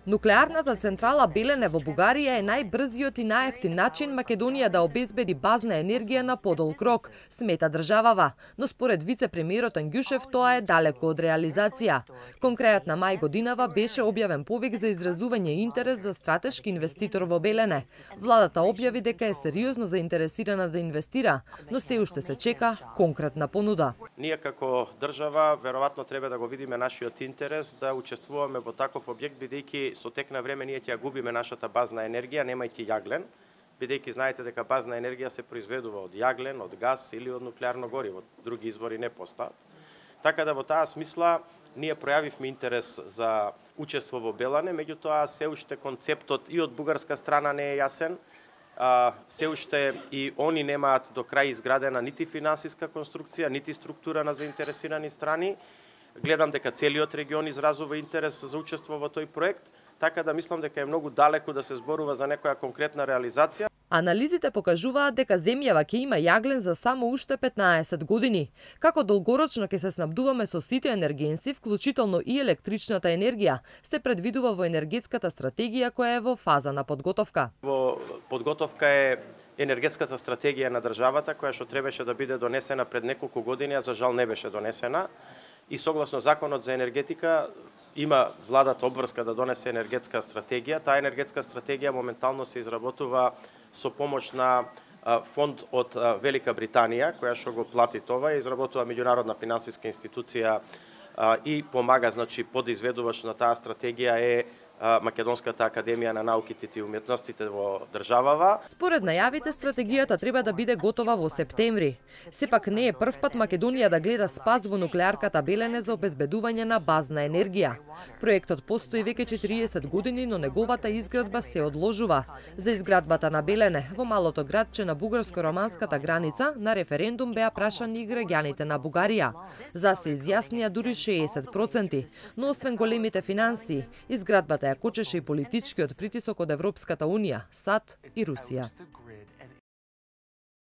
Нуклеарната централа Белене во Бугарија е најбрзиот и најевтин начин Македонија да обезбеди базна енергија на подолг рок, смета државава, но според вице-премиерот Ангјушев тоа е далеко од реализација. Конкретно мај годинава беше објавен повик за изразување интерес за стратешки инвеститор во Белене. Владата објави дека е сериозно заинтересирана да инвестира, но се уште се чека конкретна понуда. Ние како држава веројатно треба да го видиме нашиот интерес да учествуваме во таков објект, бидејќи со тек на време ние ќе ја губиме нашата базна енергија, немајќи јаглен, бидејќи знаете дека базна енергија се произведува од јаглен, од газ или од нуклеарно гориво, други извори не постојат. Така да во таа смисла ние пројавивме интерес за учество во Белене, меѓутоа се уште концептот и од бугарска страна не е јасен, се уште и они немаат до крај изградена нити финансиска конструкција, нити структура на заинтересирани страни. Гледам дека целиот регион изразува интерес за учество во тој проект, така да мислам дека е многу далеко да се зборува за некоја конкретна реализација. Анализите покажуваат дека земјава ќе има јаглен за само уште 15 години. Како долгорочно ќе се снабдуваме со сите енергенси, вклучително и електричната енергија, се предвидува во енергетската стратегија која е во фаза на подготовка. Во подготовка е енергетската стратегија на државата, која што требаше да биде донесена пред неколку години, а за жал не беше донесена. И согласно законот за енергетика има владата обврска да донесе енергетска стратегија. Таа енергетска стратегија моментално се изработува со помош на фонд од Велика Британија, која што го плати това, изработува меѓународна финансиска институција и помага, значи, подизведувач на таа стратегија е Македонската академија на науките и уметностите во државава. Според најавите, стратегијата треба да биде готова во септември. Сепак не е прв пат Македонија да гледа спас во нуклеарката Белене за обезбедување на базна енергија. Проектот постои веќе 40 години, но неговата изградба се одложува. За изградбата на Белене во малото градче на бугарско-романската граница на референдум беа прашани и граѓаните на Бугарија. За се изјаснија дури 60%, но освен големите финансии, изградбата ја кочеше и политичкиот притисок од Европската унија, САД и Русија.